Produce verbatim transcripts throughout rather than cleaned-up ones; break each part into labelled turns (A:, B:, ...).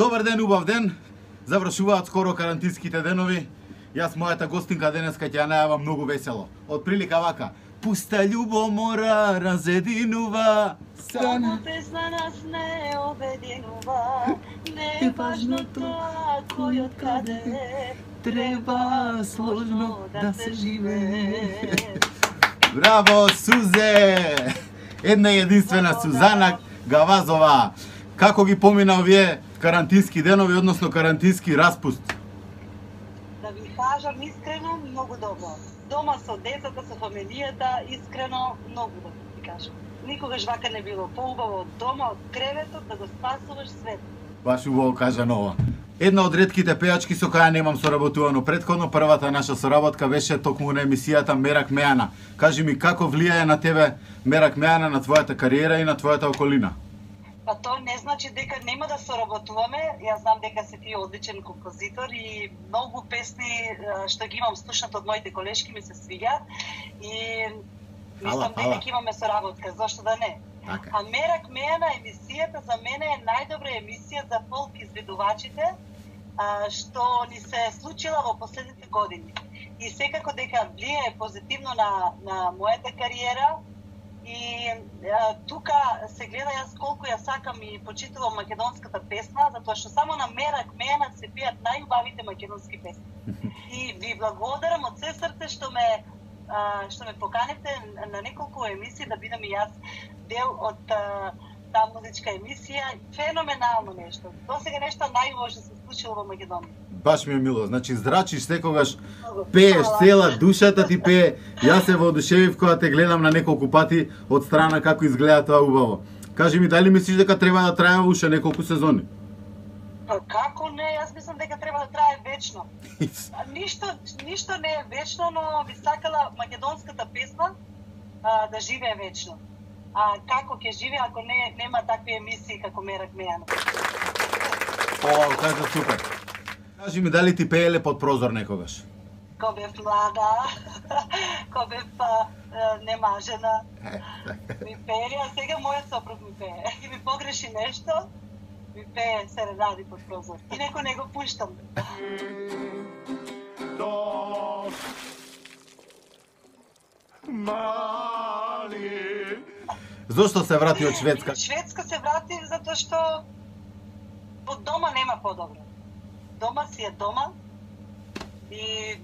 A: Добар ден, убав ден. Завршуваат скоро карантинските денови. Јас мојата гостинка денеска ќе ја најавам многу весело. Од прилика вака: пуста љубомора разединува.
B: Само песна нас не обединува. Не е важно тоа кој од каде е. Треба сложно да се живее.
A: Браво, Сузе! Една единствена Сузана Гавазова. Како ги помина овие карантински денови, односно карантински распуст?
B: Да ви кажам искрено, многу добро. Дома со децата, со фамилијата, искрено, многу добро ви кажам. Никогаш вака не било поубаво од дома, од креветот, да го спасуваш свет.
A: Баш убаво кажано ова. Една од ретките пејачки со која немам соработувано претходно, првата наша соработка беше токму на емисијата Мерак Мејана. Кажи ми, како влијае на тебе Мерак Мејана, на твојата кариера и на твојата околина?
B: Па тоа не значи дека нема да соработуваме. Јас знам дека си ти одличен композитор и многу песни што ги имам слушнат од моите колешки ми се свиѓаат и мислам дека ќе имаме соработка, зошто да не?
A: Така.
B: А Мерак Мејана емисијата за мене е најдобра емисија за фолк изведувачите што ни се случила во последните години. И секако дека влијае позитивно на на мојата кариера. И а, тука се гледа јас колку ја сакам и почитувам македонската песна, затоа што само на Мерак Мејана се пеат најубавите македонски песни. И ви благодарам од се срце што ме а, што ме поканете на неколку емисии да бидам и јас дел од а, таа музичка емисија. Феноменално нешто. Досега нешто најубаво што се случило во Македонија.
A: Баш ми е мило. Значи здрачиш секогаш, пееш, цела душата ти пее. Јас се воодушевив кога те гледам на неколку пати од страна како изгледа тоа убаво. Кажи ми, дали мислиш дека треба да трае уште неколку сезони?
B: Па како не, јас мислам дека треба да трае вечно. Ништо ништо не е вечно, но би сакала македонската песна а, да живее вечно. А како ќе живее ако не нема такви емисии како Мерак Мејана?
A: О, кажа супер. Кажи ми, дали ти пееле под прозор некогаш?
B: Ко бев млада, ко бев па, немажена, ми пеели, а сега мојот сопруг ми пее. И ми погреши нешто, ми пее серенади под прозор. И неко не го пуштам.
A: Зошто се врати од Шведска?
B: Шведска се врати затоа што од дома нема подобро. Дома си е дома и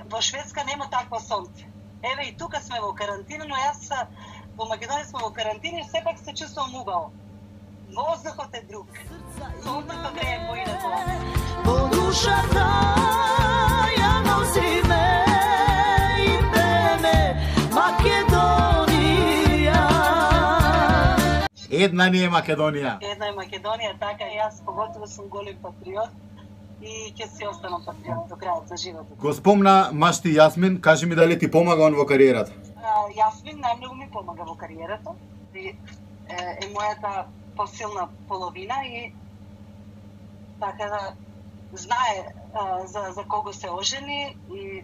B: во Шведска нема такво сонце. Еве и тука сме во карантина, но јас во Македонија сме во карантина и сепак се чувствувам убаво. Воздухот е друг. Сонцето грее поинаку.
C: По душата ја носиме и пееме Македонија.
A: Една ни е Македонија.
B: Една е Македонија, така и јас поготово сум голем патриот и ќе си останам патриот до крајот за животот.
A: Го спомна машти Јасмин, кажи ми дали ти помага он во кариерата?
B: А, Јасмин најмногу ми помага во кариерата. И, е, е мојата посилна половина и така да знае а, за за кого се ожени и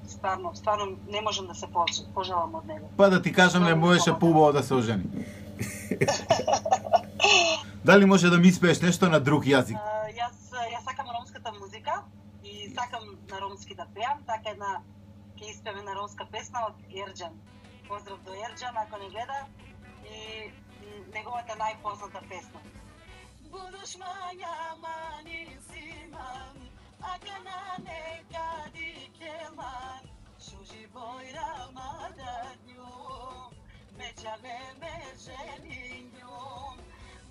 B: стварно, стварно не можам да се пожалам од него.
A: Па да ти кажам, не можеше поубаво да се ожени. Дали може да ми испееш нешто на друг јазик?
B: А, јас јас сакам ромската музика и сакам на ромски да пеам, така една ќе испееме на ромска песна од Ерџан. Поздрав до Ерџан ако не гледа и неговата најпозната песна. Будеш мања мани симан, ака на некади келман, шужи бојра мадарњум, меđale me ženinjum.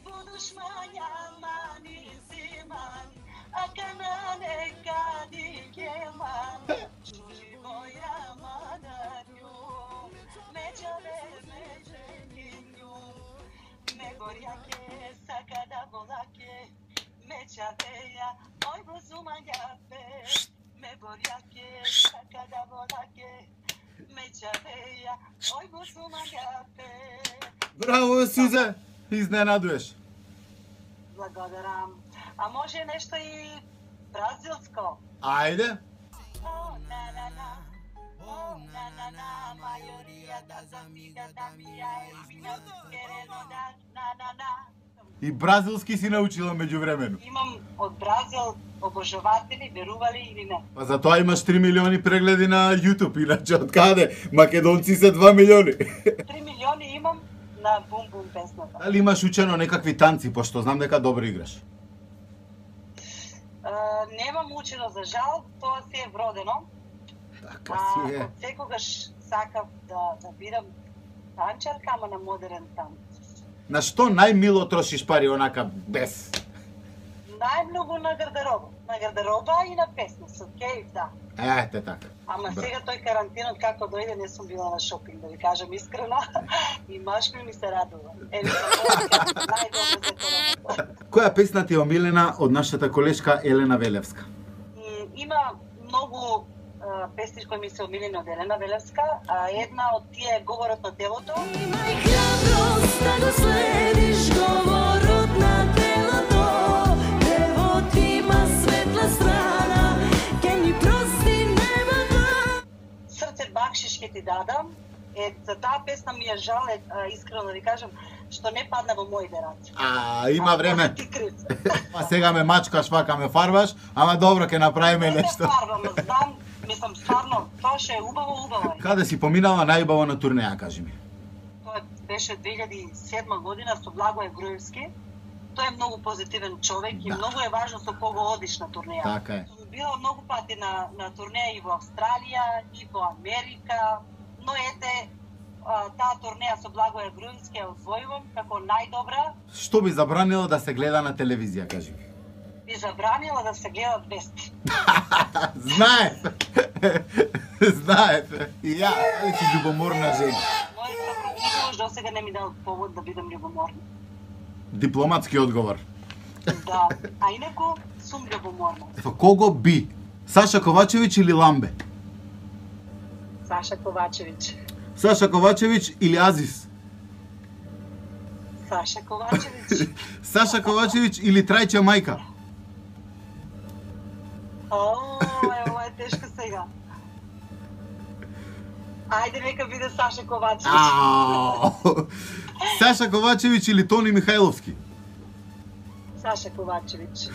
B: Budeš maњa mani ziman, aka na nekadi kelman, šuži boja madarnjum, međale me ženinjum. Me gorjake, sakada volake, međaveja, oj bozumanjape. Me gorjake, sakada volake, međaveja, oj bozumanjape.
A: Браво, Сузе! Изненадуеш.
B: Благодарам. А може нешто и бразилско?
A: Ајде.
B: О, на на на. О, на на на. Мајорија да замига да ми ја е. Querendo dar na na na.
A: И бразилски си научила меѓувремено.
B: Имам од Бразил обожаватели, верували или не.
A: Па затоа имаш три милиони прегледи на YouTube, иначе од каде? Македонци се два милиони.
B: три милиони имам на Бум Бум песната.
A: Дали имаш учено некакви танци, пошто знам дека добро играш?
B: Uh, немам учено за жал, тоа си е вродено.
A: Така
B: А
A: си е.
B: од секогаш сакав да, да бидам танчарка, ама на модерен танц.
A: На што најмило трошиш пари онака без?
B: Најмногу на гардероба. На гардероба и на песни, со кејф, да.
A: Ете така.
B: Ама
A: Бра.
B: сега тој карантинот како дојде, не сум била на шопинг, да ви кажам искрено. И машми ми се радува. Еве, најдобро за короната.
A: Која песна ти е омилена од нашата колешка Елена Велевска?
B: М, Има многу а, песни кои ми се омилени од Елена Велевска, а една од тие е Говорот на телото.
C: Имај храброст да го следиш говорот на телото. Девот има светла страна, ке ни прости небото.
B: Срце бакшиш ќе ти дадам. Е, за таа песна ми е жал, е, а, искрено да ви кажам, што не падна во моите раце.
A: А, има време.
B: Ти крив.
A: Па сега ме мачкаш, вака ме фарбаш, ама добро, ќе направиме
B: Не
A: нешто.
B: се фарбам, знам, мислам, стварно, тоа што е убаво, убаво е.
A: Каде си поминала најубаво на турнеја, кажи ми?
B: Тоа беше две илјади и седма година со Благое Груевски. Тој е многу позитивен човек и
A: Да.
B: многу е важно со кого одиш на турнеја.
A: Така е.
B: Сум била многу пати на, на турнеја и во Австралија, и во Америка, но ете, а, таа турнеја со Благое Груевски ја освојувам како најдобра.
A: Што би забранила да се гледа на телевизија, кажи ми?
B: Би забранила да се гледат вести.
A: Знаев! Знаев! И ја, али си љубоморна жена.
B: Мојот сопруг до сега не ми дал повод да бидам љубоморна.
A: Дипломатски одговор.
B: Да, а инаку сум љубоморна.
A: Со кого би? Саша Ковачевиќ или Ламбе?
B: Саша Ковачевиќ.
A: Саша Ковачевиќ или Азис?
B: Саша Ковачевиќ.
A: Саша Ковачевиќ или Трајче мајка?
B: О, е, ова е тешко сега. Ајде, нека биде Саша Ковачевиќ.
A: Ау! Саша Ковачевиќ или Тони Михајловски?
B: Саша Ковачевиќ.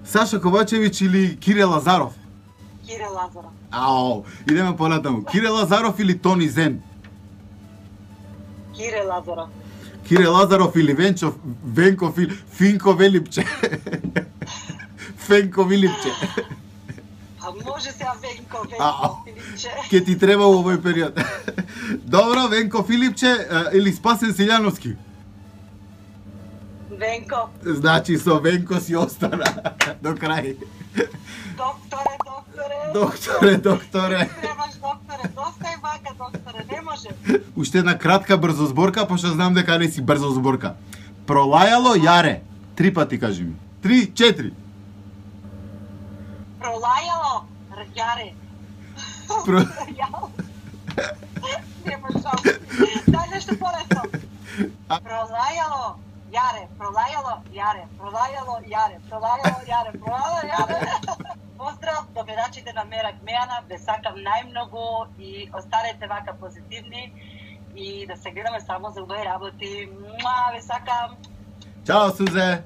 A: Саша Ковачевиќ или Кире Лазаров?
B: Кире Лазаров.
A: Ау, идеме понатаму. Кире Лазаров или Тони Зен?
B: Кире Лазаров.
A: Кире Лазаров или Венчов, Венков или Финко Велипче? Фенко Вилипче.
B: А може сега Венко,
A: Ау.
B: Венко, Филипче.
A: Ке ти треба во овој период. Добро, Венко Филипче а, или Спасен Силјановски?
B: Венко.
A: Значи со Венко си остана до крај.
B: Докторе, докторе.
A: Докторе, докторе.
B: Требаш докторе, доста е вака, докторе, не може.
A: Уште една кратка брзо зборка, пошто знам дека не си брзо зборка. Пролајало јаре. Три пати кажи ми. Три, четири.
B: Пролајало, рѓаре.
A: Про...
B: Јал. Нема шанси. Дај нешто полесно.
A: А-
B: Пролајало, јаре, пролајало, јаре, пролајало, јаре, пролајало, јаре, пролајало, јаре. Поздрав до гледачите на Мерак Мејана, ве сакам најмногу и останете вака позитивни и да се гледаме само за убави работи. Муа, ве сакам.
A: Чао, Сузе.